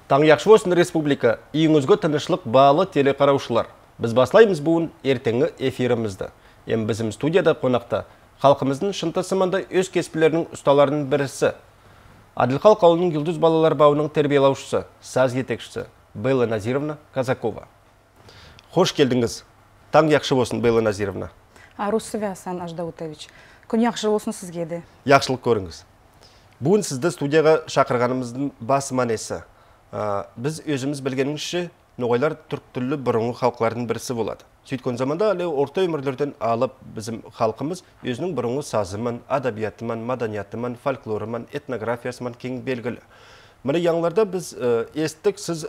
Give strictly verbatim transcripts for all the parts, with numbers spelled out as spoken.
Таң яқшы болсын республика, үйіңізге тынышлық балы телекараушылар. Біз баслаймыз буын ертеңі эфирімізді. Ем біздің студияда қонақта халқымыздың шынтысымында өз кеспілерінің ұсталарының бірісі. Адылхал қауылының Юлдыз балалар бауының тербиелаушысы, саз етекшісі Белла Назировна Казакова. Хош келдіңіз. Таң яқшы болсын, Белла Назировна. Арусове Асан Аждаутович. Күн яқшы болсын сізге де. Яқшылық көріңіз. Бүгін сізді студияға шақырғанымыздың басы манесі. Біз өзіміз білгенімізше, ноғайлар түрк түрлі бұрынғы халқылардың бірісі болады. Сөйткен заманда әлі орта өмірлерден алып біздің халқымыз өзінің бұрынғы сазыман, адабиятыман, маданиятыман, фольклорыман, этнографиясыман кең белгілі. Міне яңларда біз естік, сіз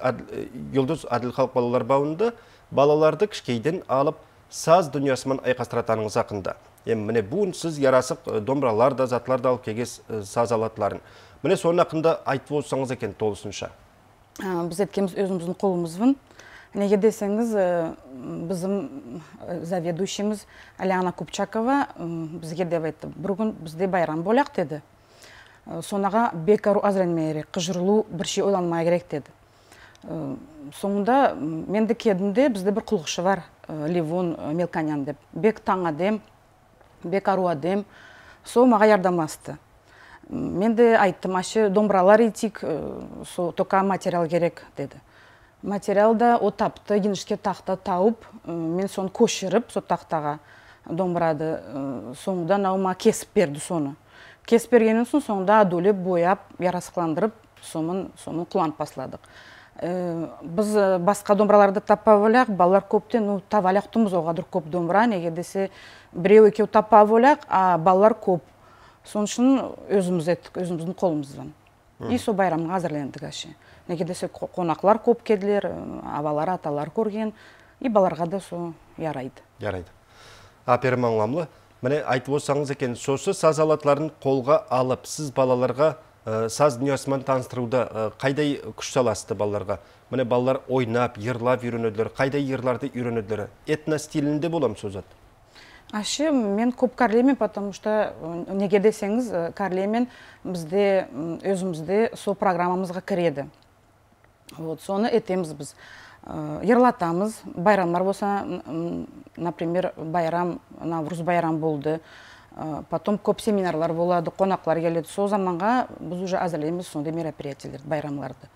Юлдыз Адылхал балалар бауында балаларды кішкейден алып саз дүниясымен айқастыратаныңыз ақында. Міне бүгін сіз ярасық домбыралар да, затлар да алып кегес саз алатыларын. Міне соның ақында айтып олсаңыз екен толысынша. Біз еткеміз өзіміздің қолымызбын. Неге десеңіз, біздің заведующиміз Аляна Купчакова бізге деп айтты, бір күн бізде байрам боляқ деді. Сонаға бекару азыренмейрек, қыжырлу бір шей ойланмай керек деді. Соңында менді кедімде бізде бір құлғышы бар, Левон Мелканян деп. Бек таң адем, бек ару адем, со маға ярдамасты. Мен де айттым, ашы домбыралар етік, тоқа материал керек деді. Материалда о тапты, енішке тақта тауып, мен соны көшіріп, со тақтаға домбырады. Соңында науыма кесіп берді соны. Кесіп бергенін соң соңында адөлеп, бояп, ярасықландырып, соның құланып басладық. Біз басқа домбыраларды таппа өляқ, балалар көптен тава аяқтымыз оғадыр көп домбыра, неге десе біреу екеу таппа өляқ, а балалар көп. Соның үшін өзіміз еттік, өзіміздің қолымыздан. И со байрамға әзірлендік әше. Неге десе қонақлар көп кеділер, авалар, аталар көрген, и баларға да со ярайды. Ярайды. Аперім аңламлы. Міне айтып олсаңыз екен, сосы саз алатларын қолға алып, сіз балаларға саз дүниясымен таныстыруда қайдай күш саласты балаларға? Міне балалар ойнап, ерлап үйренеділер, қайдай ерларды үйренеділер? Этно стилінде болам сөзат? Ашы, мен көп карлеймен, потому что неге десеңіз, карлеймен бізде, өзімізде со программамызға кіреді. Соны етеміз біз. Ерлатамыз, байрамлар болса, например, байрам, Навруз байрам болды. Потом көп семинарлар болады, қонақлар келеді. Со заманға біз уже әзірлейміз сондай мероприятиялер, байрамларды.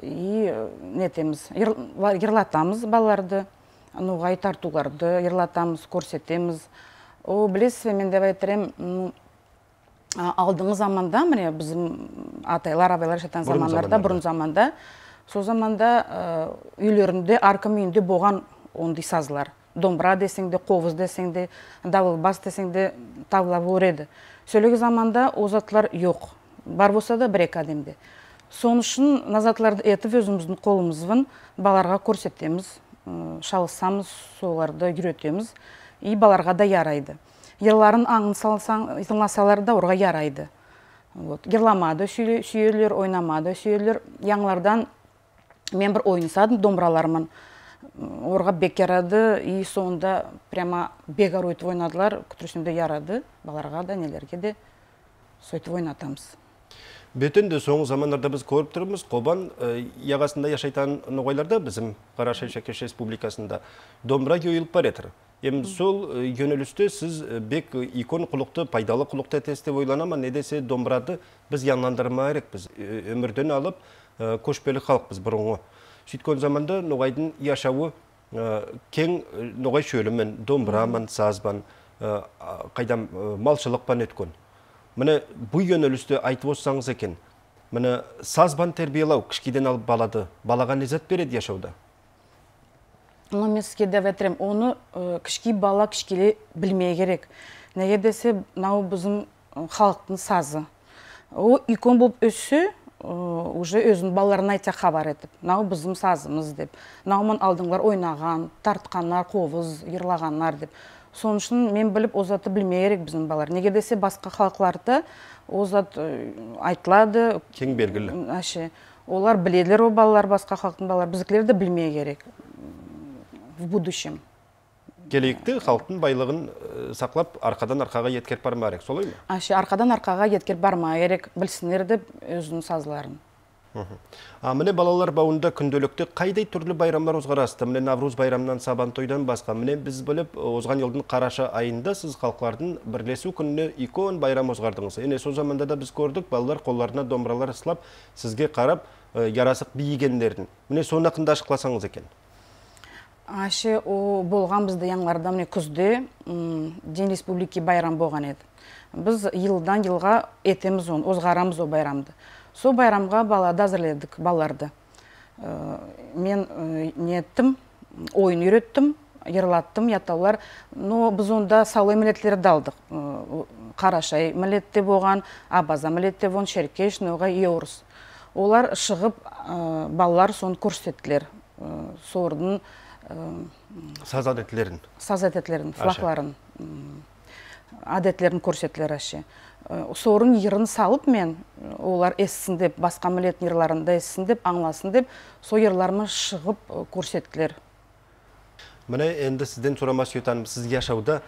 И нетеміз, ерлатамыз балаларды. Нуғай тартуларды ерлатамыз, көрсетеміз. О, білесіз, мен деп айтырым, алдыңғы заманда, міне, біздің атайлар, абайлар жатан замандарда, бұрын заманда, сол заманда үйлерінде, арқым үйінде болған ондай сазылар. Домбыра десеңде, қовыз десеңде, давылбас десеңде тавлап өреді. Сөйлегі заманда озатлар жоқ. Бар болса да бір-екі адемде. Соның үшін назатларды етіп өзіміздің қолымызбын баларға көрсетеміз. Шалысамыз, соларды үйретеміз, и баларға да ярайды. Ерларын аңын салсалар да орға ярайды. Ерламады сүйелер, ойнамады сүйелер. Яңлардан мен бір ойнысадым домбыраларымын. Орға бек ярады, и соңында прямо бегар өйтіп ойнадылар, күтірісінде ярады, баларға да, нелерге де сөйтіп ойнатамыз. Бөтінде соңғы замандарда біз көріп тұрмыз, Қобан яғасында яшайтан ноғайларда біздің Қарашай Шәкеш Республикасында домбыра көйіліп бар етір. Ем сол yönелісті сіз бек икон құлықты, пайдалы құлықты тесте ойланама, не десе домбырады біз янландырма ерек, біз өмірден алып көшпелі халық біз бұрынғы. Сөйткен заманда ноғайдың яшауы кең ноғай шөлімен, домбыраман, сазбан, қайдам малшылықпан өткен. Міне бұл yönелісті айтып олсаңыз екен, міне сазбан тербиелау кішкеден алып балады, балаға незат береді яшауда? Оны мен сізге деп әтірем, оны кішкей бала кішкеле білмей керек. Неге десе, нау біздің халықтың сазы. О, икон болып өсі, уже өзінің балаларына айта хабар етіп, нау біздің сазымыз деп. Наумын алдыңлар ойнаған, тартқанлар, қовыз, ерлағанлар деп. Соның үшін мен біліп, озаты білмей керек біздің балалар. Неге десе, басқа халықларда озат айтылады. Кең белгілі. Олар біледілер, о балалар, басқа халықтың балалар. Біздікілер де білмей керек в будущем. Келейікті халықтың байлығын сақлап, арқадан арқаға еткер барма керек, солай ма? Арқадан арқаға еткер барма керек, білсінер деп өзінің сазыларын. А міне балалар бауында күнделікті қайдай түрлі байрамлар озғарасты? Міне Навруз байрамнан Сабан тойдан басқа. Міне біз біліп, озған елдің қараша айында сіз халықлардың бірлесу күніне икон байрам озғардыңыз. Ене сол заманда да біз көрдік, балалар қолдарына домбыралар ысылап, сізге қарап, ярасық бейгендерін. Міне соны ақында ашықласаңыз екен. Ашы, о болған бізді яңларда міне күзде Ден Республики байрам болған еді. Біз елдан елға етеміз оны, озғарамыз о байрамды. Сол байрамға балады әзірледік, баларды. Мен не еттім, ойын үйреттім, ерлаттым, ятаулар. Но біз онда салой милетлері далдық. Қарашай милетте болған, Абаза милетте болған, Шеркеш, Ноға, Еурыс. Олар шығып, балалар соны көрсеттілер. Сордың саз әдетлерін, саз әдетлерін, флақларын, әдетлерін көрсеттілер әше. Сорын ерін салып мен, олар ессін деп, басқа милеттің ерларында ессін деп, аңласын деп, со ерларымы шығып көрсеттілер. Міне, енді сізден сұрамас өтаным, сіз яшауда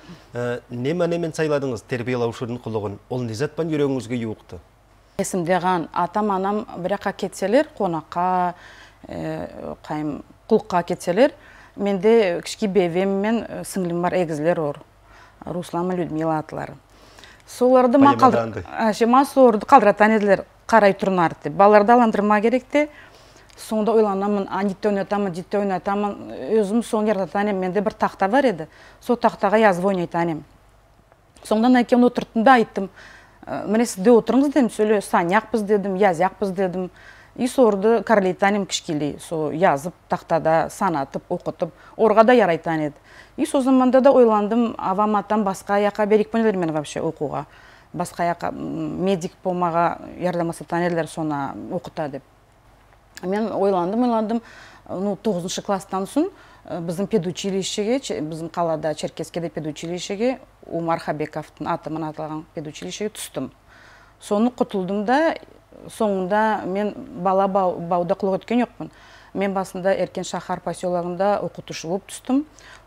немен сайладыңыз тербиялаушының құлығын? Ол незатпан үйреңіңізге еуіқты? Есімдеған атам-анам біраққа кетселер, қонаққа, қайым, құлыққа кетселер, менде кішкі бевем мен сіңлім бар егізлер ор. Руслама Людмила атылары. Соларды ма қалдыратан еділер қарай тұрнар деп. Баларды аландырма керекте. Сонда ойланамын, анитте ойнатамын, дитте ойнатамын. Өзім соны ертатанем, менде бір тақта бар еді. Сол тақтаға yazып ойнайтанем. Сондан әкем отырттым да айттым. Міне сізде отырыңыз дедім, сөйле саняқпыз дедім, язяқпыз дедім. И сорды карлейтанем кішкелей. Со yazып, тақтада санатып, оқытып, орға да ярайтан еді. И со заманда да ойландым, авам атам басқа аяққа берік пөнелер мен вообще оқуға. Басқа аяққа медик болмаға ярдамасатан еділер соны оқыта деп. Мен ойландым, ойландым, тоғызыншы класстан соң біздің педучилищеге, біздің қалада Черкескеде педучилищеге, Умар Хабековтың атымен аталған педучилищеге түстім. Соны құтылдым да, соңында мен бала бауда құлық өткен жоқпын. Мен басында Еркен шахар поселогында оқытушы болып түстім.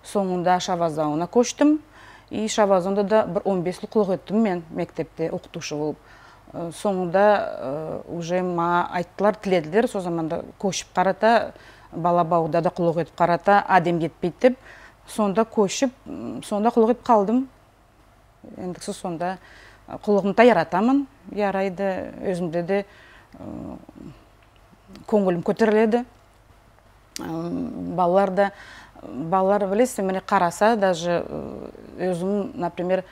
Соңында Шавазауына көштім. И Шавазаунда да бір он бес жыл құлық өттім мен мектепте оқытушы болып. Соңында уже ма айттылар, тіледілер. Со заманда көшіп қарата, бала бауда да құлық өтіп қарата, адем кетпейді деп. Сонда көшіп, сонда құлық өтіп қалдым. Ендіксі сонда құлығымда яратамын. Ярайды, өзімде де көңілім көтеріледі. Балалар да, балалар білесіз, мені қараса, даже өзім, например,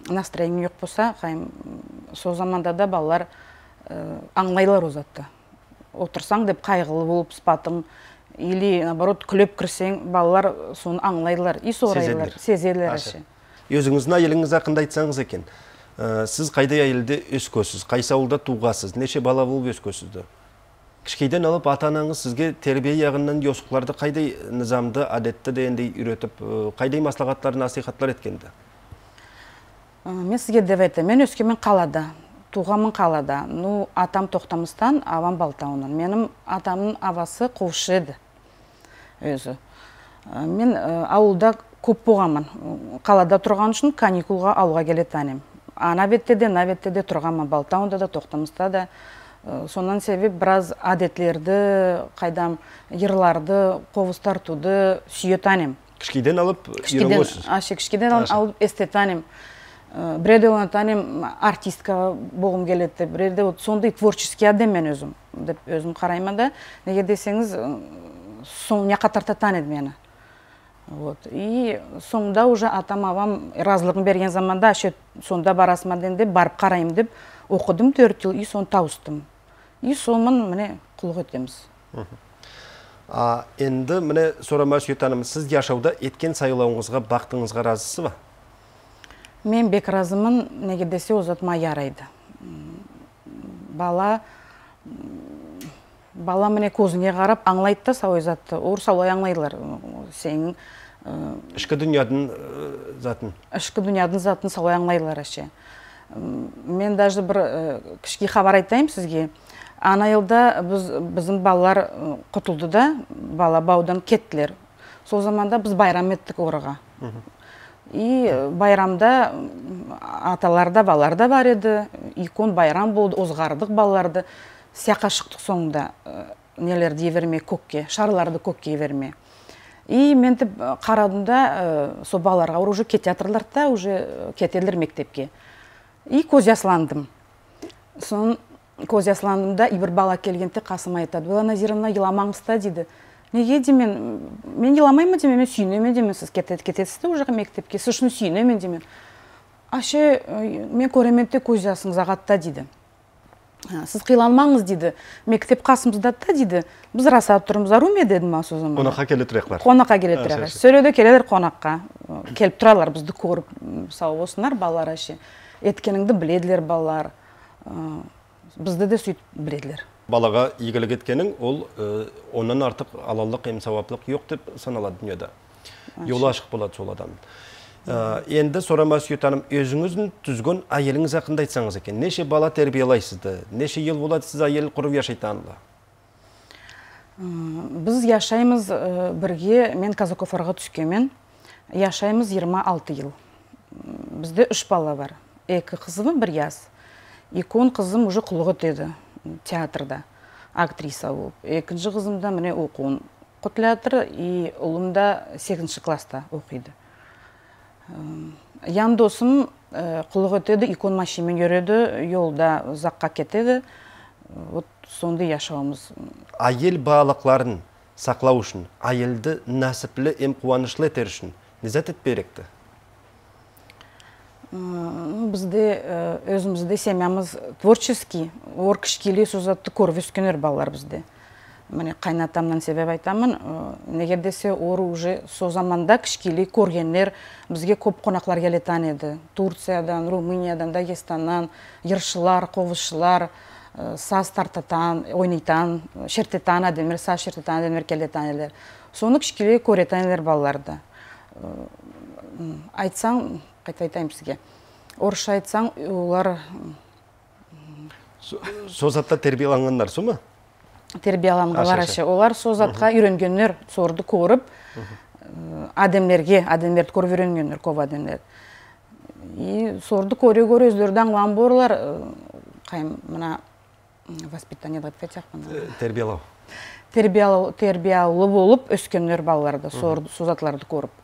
настроение жоқ болса, қайым, сол заманда да балалар аңлайлар өзатты. Отырсаң деп қайғылы болып спатың, или, наоборот, күліп кірсең, балалар соны аңлайлар, и сорайлар, сезелер әші. Өзіңіздің айылыңыз ақында айтсаңыз екен, сіз қайдай айылды өскөсіз, қайсы ауылда туғасыз, неше бала болып өскөсізді? Кішкейден алып ата-анаңыз сізге тербие яғынан йосықларды қайдай низамды, әдетті дегендей үйретіп, қайдай маслағаттар, насихаттар еткенді? Мен сізге деп айтам, мен өскемен қалада, туғамын қалада. Ну, атам Тоқтамыстан, авам Балтауынан. Менің атамның авасы қушы еді өзі. Мен ауылда көп болғамын. Қалада тұрған үшін каникулға ауылға келетанем. Ана бетте де, на бетте де тұрғамын. Балтауында да, Тоқтамыста да. Сонан себеп біраз әдетлерді, қайдам ерларды, қовыз тартуды сүйетанем. Кішкейден алып үйренгенсіз? Кішкейден алып эстетанем. Біреде онатанем артистка болғым келеді. Біреде сондай творческий адам мен өзім. Өзім қараймын да. Неге десеңіз, соңына қатартатан еді мені. И соңда уже атам-авам разылығын берген заманда, сонда барасыма денде барып қарайым деп оқыдым төрт жыл, и соны тауыстым. И сонымен міне құлық өтеміз. Енді міне сұрама сүйетаным, сіз яшауда еткен сайлауыңызға, бақтыңызға разысы ба? Мен бек разымын, неге десе озатыма ярайды. Бала, бала міне көзіңе қарап аңлайды да сауай затты. Ор саулай аңлайлар. Сенің ішкі дүниядың затын? Ішкі дүниядың затын саулай аңлайлар әше. Мен даже бір кішкі хабар айтайым сізге. Ана елда біздің балалар құтылды да, бала баудан кеттілер. Сол заманда біз байрам еттік орыға. И байрамда аталарда, балаларда бар еді. Икон байрам болды, озғардық балаларды. сияққа шықтық соңында нелерді еверме көкке, шарларды көкке еверме. И мен тіп қарадым да, со балаларға уже кетеатырлар да, уже кетелер мектепке. И көз ясландым. Сон көз ясландым да, и бір бала келгенде қасыма айтады, Белла Назировна, еламаңыз та дейді. Неге демен, мен еламаймын демен, мен сүйінемен демен, сіз кетесіз де уже мектепке, сіз үшін сүйінемен демен. Аше, мен көременде көз ясыңыз ағатта дейді. Сіз қиланмаңыз дейді, мектеп қасымызда да дейді, біз расап тұрмыз, ару ме дедім ма со заман. Қонаққа келе тұрақлар. Қонаққа келе тұрақлар. Сөйлеуде келелер қонаққа. Келіп тұралар, бізді көріп, сау болсынар балалар әше. Еткеніңді біледілер балалар. Бізді де сөйтіп біледілер. Балаға игілік еткенің, ол онан артық алалық, емсауаплық жоқ деп саналады дүниеда. Yolu ашық болады сол адам. Енді сорамас Таным, өзіңіздің түзген айеліңіз ақында айтсаңыз екен. Неше бала тәрбиелайсызды? Неше ел болады сіз айел құрып яшайтанлы? Біз яшаймыз бірге, мен Казакофарға түскемен, яшаймыз жиырма алты ел. Бізде үш бала бар. Екі қызым бір яз. Екі қызым уже құлығы деді театрда, актриса болып. Екінші қызымда міне оқуын құтылатыр, и ұлымда сегізінші класста оқиды. Ян досым құлық өтеді, икон машимен көреді, yolda ұзаққа кетеді. Вот сонда яшауымыз. Айел балықларын сақлау үшін, айелді нәсіплі, ем қуанышлы етер үшін незат етперекті? Бізде, өзімізде семьямыз творческий, ор кішкелі созатты көріп өскенер балалар бізде. Міне қайнатамнан себеп айтамын, неге десе ор уже со заманда кішкелі көргенлер бізге көп қонақлар келетан еді. Турциядан, Румыниядан, Дагестаннан, ершылар, қовышылар, саз тартатан, ойнайтан, шертетан адемер, саз шертетан адемер келетан елер. Соны кішкелі көретан елер балаларды. Айтсаң, қайта айтайым сізге, орысша айтсаң, олар... Созатта тербияланғандар, со ма? Тербияланғалар әше. Олар созатқа үйренгенлер, сорды көріп, адемлерге, адемлерді көріп үйренгенлер, көп адемлер. И сорды көре-көре өздерді аңлан борлар, қайым, мына, воспитание деп айтпайтақпын. Тербиялау. Тербиялы болып өскенлер балаларды, созатларды көріп.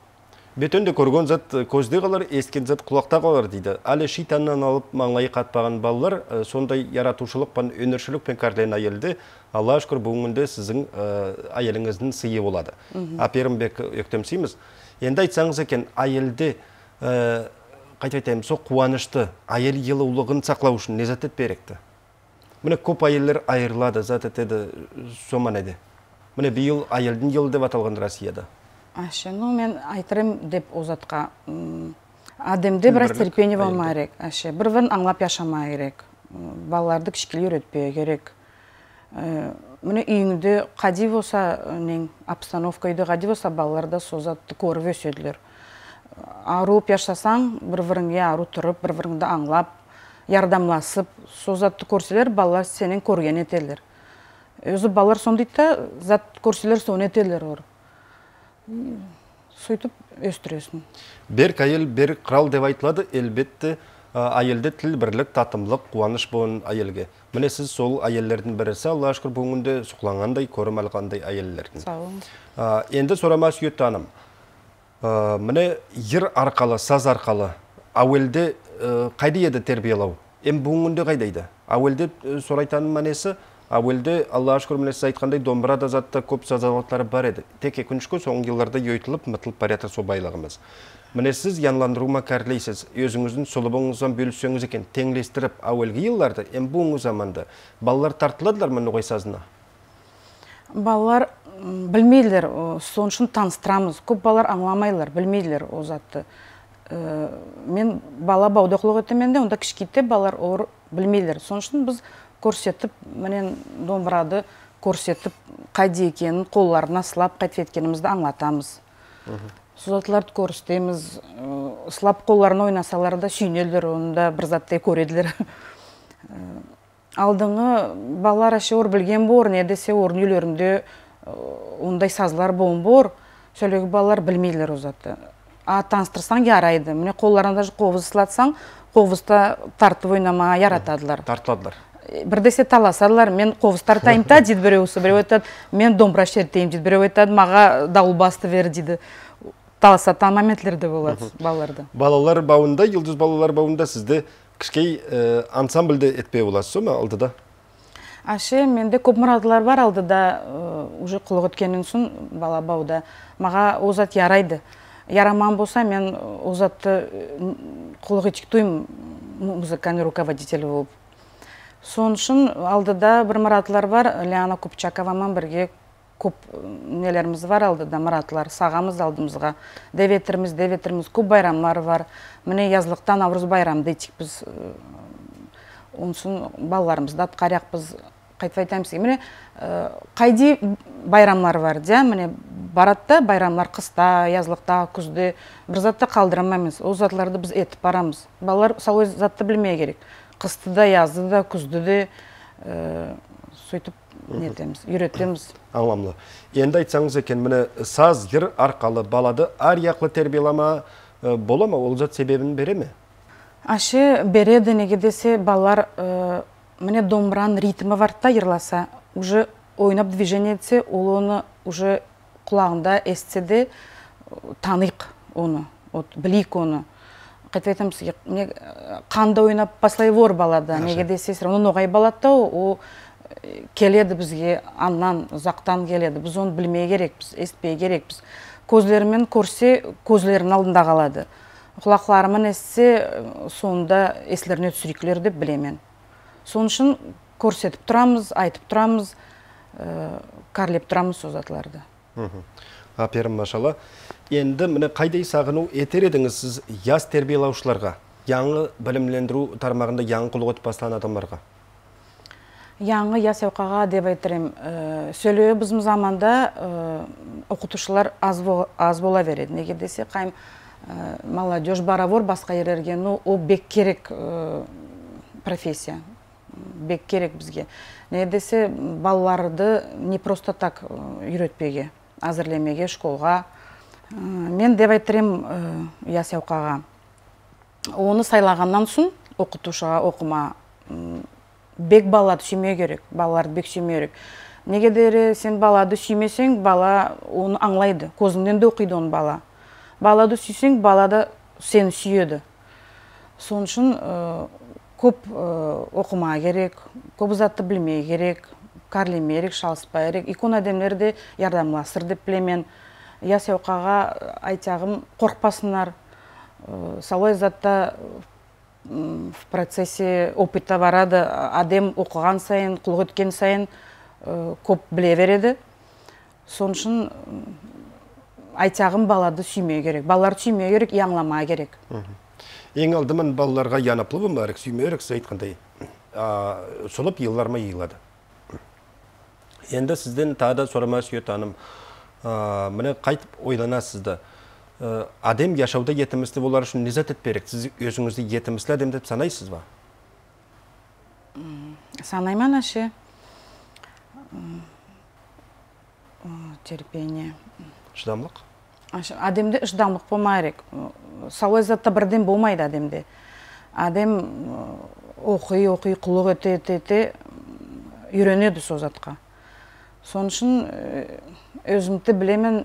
Бетөнде көрген зат көзде қалар, ескен зат құлақта қалар дейді. Әлі шитаннан алып маңлайы қатпаған балалар сондай яратушылық пен өнершілік пен кәрлен айелді. Алла шүкір бүгінгі сіздің айеліңіздің сыйы болады. Аперімбек өктемсейміз. Енді айтсаңыз екен, айелді қайта айтайым, со қуанышты айел елі ұлығын сақлау үшін не зат етперекті? Міне көп айелер айырылады, зат етеді, соман еді. Міне биыл айелдің елі деп аталған Россияда. Ашы, ну мен айтырым деп озатқа. Адемде біраз терпение болмай керек. Ашы, бір-бірін аңлап яшамай керек. Балаларды кішкелі үйретпей керек. Міне үйіңді қади болса, обстановка үйді қади болса, балаларда созатты көріп өсөділер. Арып яшасаң, бір-біріңге ару тұрып, бір-біріңді аңлап, ярдамласып, созатты көрселер, балалар сенен көрген етелер. Өзі балалар сондайда, зат көрселер соны етелер ор. Сөйтіп өстіресін. Бір айел, бір қырал деп айтылады, әлбетті айелде тіл бірлік, татымлық, қуаныш болын айелге. Міне сіз сол айеллердің бірісі, Алла шүкір бүгінде сұқланғандай, көрім алғандай айеллердің. Енді сорамас Таным. Міне ер арқалы, саз арқалы, ауелде қайды еді тербиялау? Ем бүгінде қайдайды? Ауелде сорайтаның мәнесі, ауелде Алла шүкір міне сіз айтқандай домбырада затта көп сазалатлары бар еді. Тек екіншкі соңғы елларда өйтіліп, мұтылып барятыр со байлығымыз. Міне сіз янландырума кәрлейсіз, өзіңіздің солыбыңыздан бөліссеңіз екен, теңлестіріп ауелгі елларды, ем бұңғы заманда балалар тартыладылар мұны ғой сазына? Балалар білмейлер, сон үшін таныстырамыз. Көп балалар аңламайлар, білмейлер о затты. Мен бала баудақлық өтеменде, онда кішкейте балалар ор білмейлер. Сон үшін біз көрсетіп, менен домбырады көрсетіп, қайда екенін қолларына сылап қайтып еткенімізді аңлатамыз. Созатларды көрістеміз, сылап қолларына ойнасалар да сүйнелдер, онда бір заттай көреділер. Алдыңы балалар әше ор білген бор, не десе орын үйлерінде ондай сазылар болын бор, сөйлегі балалар білмейлер о затты. А таныстырсаң ярайды. Міне қолларында қовыз сылатсаң, қовызда тартып ойнама яратадылар. Тартыладылар. бірдесе таласадылар. Мен қовыстар тайым та дейді біреуісі, біреу айтады, мен домбыра шертейім дейді, біреу айтады, маға дауыл басты бер дейді. Таласатын моментлерде болады балаларды. Балалар бауында, Йылдыз балалар бауында сізді кішкей ансамбльді етпей боласыз ма алдыда? Аше, менде көп мұрадылар бар алдыда, уже құлық өткеннен соң бала бауда. Маға озат ярайды. Яраман болса, мен озатты құлық етіктойым музыкальный руководитель болып. Сон үшін алдыда бір мұратылар бар, Лиана Купчаковамен бірге көп нелеріміз бар алдыда, мұратылар. Сағамыз алдымызға. Деветіріміз, деветіріміз, көп байрамлар бар. Міне язлықтан Наурыз байрам дейтік біз. Онсын балаларымызды атқаряқ біз қайтып айтамыз. Міне қайди байрамлар бар, де, міне баратта байрамлар қыста, язлықта, күзде бір затты қалдырамаймыз. Ол затларды біз етіп барамыз. Балалар салой затты білмей керек. Қысты да, язды да, күзді де сөйтіп нетеміз, үйретеміз. Аңламлы. Енді айтсаңыз екен, міне саз, жыр арқалы балады арияқлы тербиелама бола ма? Ол зат себебін бере ме? Аше береді, неге десе балалар міне домбыран ритмі вартта ерласа, уже ойнап движение етсе, ол оны уже құлағында естсе де таныйық оны, білейік оны. Қайтып айтамыз, қанда ойнап баслай вор балада, неге десе, оны ноғай балады, о келеді бізге, аннан, ұзақтан келеді. Біз оны білмей керекпіз, естпей керекпіз. Көзлерімен көрсе, көзлерінің алдында қалады. Құлақларымен естсе, сонда еслеріне түсірекілер деп білемен. Соның үшін көрсетіп тұрамыз, айтып тұрамыз, карлеп тұрамыз созатларды. Аперім, машала. Енді міне қайдай сағыну етер едіңіз сіз яз тербиелаушыларға, яңы білімлендіру тармағында яңы құлық өтпастан адамларға? Яңы яс ауқаға деп айтырым. Сөйлеуі біздің заманда оқытушылар аз бола береді. Неге десе, қайым молодежь баравор басқа ерерге, о бек керек профессия. Бек керек бізге. Неге десе, балаларды не просто так үйретпеге, әзірлемеге, школға. Мен деп айтырым яс ауқаға. Оны сайлағаннан соң оқытушыға оқыма бек балады сүймей керек, балаларды бек сүймей керек. Неге дере сен балады сүймесең, бала оны аңлайды, көзіңнен де оқиды оны бала. Балады сүйсең, балада сені сүйеді. Соның үшін көп оқыма керек, көп затты білмей керек, карлемей керек, шалыспай керек. Икон әдемлерді ярдамласыр деп білемен. Яс ауқаға айтағым қорқпасынар, салой затта в процессе опыта барады, адем оқыған сайын, құлық өткен сайын көп біле береді. Соның үшін айтағым балады сүймей керек. Балаларды сүймей керек, яңлама керек. Ең алдымын балаларға янаплы бұм барық, сүймей керек, сіз айтқандай. Солып елларма елады. Енді сізден тағда сұрама сүйет аным. Міне қайтып ойланасызды. Адем яшауда етімісті болар үшін незат етперек? Сіз өзіңізді етімісті адем деп санайсыз ба? Санайман ашы. Терпение. Шыдамлық? Адемде шыдамлық болмайрек. Салой затта бірден болмайды адемде. Адем оқи, оқи, құлық өте, өте, өте үйренеді со затқа. Соның үшін өзімді білемен,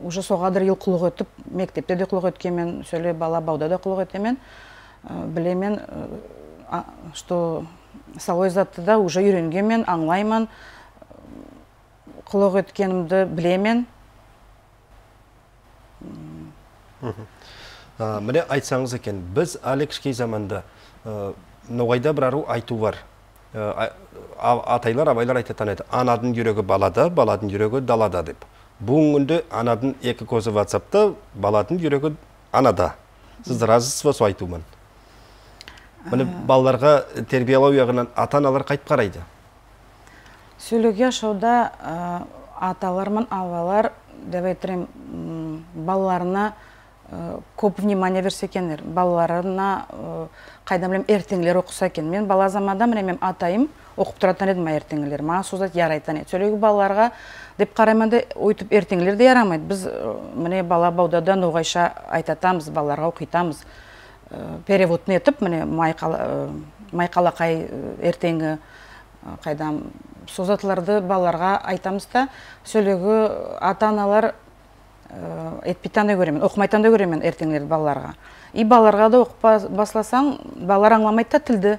уже соғадыр ел құлық өтіп, мектепте де құлық өткемен, сөйле бала бауда да құлық өтемен, білемен, что салой затты да уже үйренгемен, аңлайман, құлық өткенімді білемен. Міне айтсаңыз екен, біз әлі кішкей заманда ноғайда бір ару айту бар. Атайлар, абайлар айтатан еді. Анадың жүрегі балада, баладың жүрегі далада деп. Бұл күнде анадың екі көзі ватсапта, баладың жүрегі анада. Сіз разысыз ба со айтумен? Міне балаларға тербиялау яғынан ата-аналар қайтып қарайды? Сөйлеге ашауда аталармен авалар деп айтырым балаларына көп внимание берсе екенер. Балаларына қайдан білем ертеңлер оқыса екен. Мен бала заманда мен атайым оқып тұратын едім ертеңлер. Маған созат ярайтан еді. Сөйлеге балаларға деп қарайманда ойтып ертеңлер де ярамайды. Біз міне бала баудада ноғайша айтатамыз, балаларға оқитамыз. Переводны етіп, міне майқалақай ертеңі Қайдам созатларды балаларға айтамыз да, сөйлегі ата-аналар етпейтен де көремен, оқымайтан да көремен ертеңлерді балаларға. И балаларға да оқып басласаң, балалар аңламайды да тілді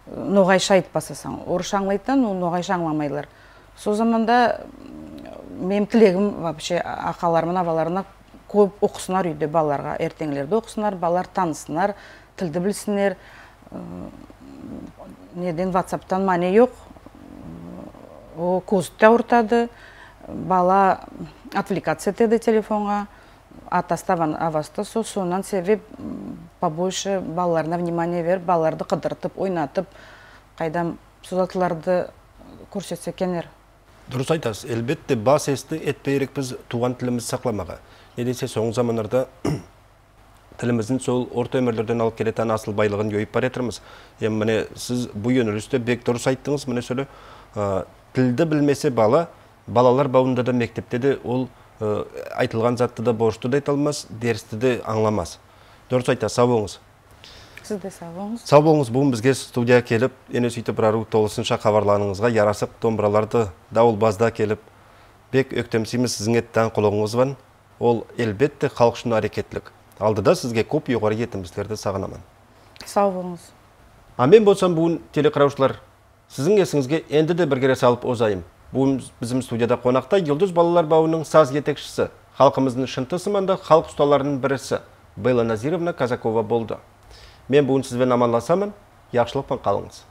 ноғайша айтып басасаң. Орысша аңлайтын, ол ноғайша аңламайлар. Сол заманда менің тілегім вообще ақаларымын, аваларына көп оқысынар үйде балаларға, ертеңлерді оқысынар, балалар танысынар, тілді білсінер. Неден ватсаптан мане жоқ, о көзітті ұртады, бала отвлекаться етеді телефонға, атаставан авасты, сол сонан себеп побольше балаларына внимание беріп, балаларды қыдыртып, ойнатып, қайдам созатыларды көрсетсе кенер. Дұрыс айтасыз, әлбетте бас есті етпейрек біз туған тілімізді сақламаға. Не десе, соңғы замандарда тіліміздің сол орта өмірлерден алып келетін асыл байлығын йойып бар етірміз. Ем, міне, сіз бұл өнілісті бек дұрыс айттыңыз, міне сөйлі, тілді білмесе бала, балалар бауында да мектепте де ол айтылған затты да борышты да айталмас, дерісті де аңламас. Дұрыс айта, сау болыңыз. Сіз де сау болыңыз. Сау болыңыз, бүгін бізге студия келіп, ене сөйтіп бір ару толысынша хабарланыңызға ярасып домбыраларды дауыл базда келіп, бек өктемсейміз сіздің еттен құлығыңыз бан. Ол әлбетте халық үшін әрекетлік. Алдыда сізге көп еғары етіміздерді сағынамын. Сау болыңыз. А мен болсам бүгін телекараушылар, сіздің есіңізге енді де бір кере салып озайым. Бүгін bizim студияда қонақта Йылдыз балалар бауының саз етекшісі, халқымыздың шынты сыманда халық ұсталарының бірісі Белла Назировна Казакова болды. Мен бүгін сізбен аманласамын, яқшылықпен қалыңыз.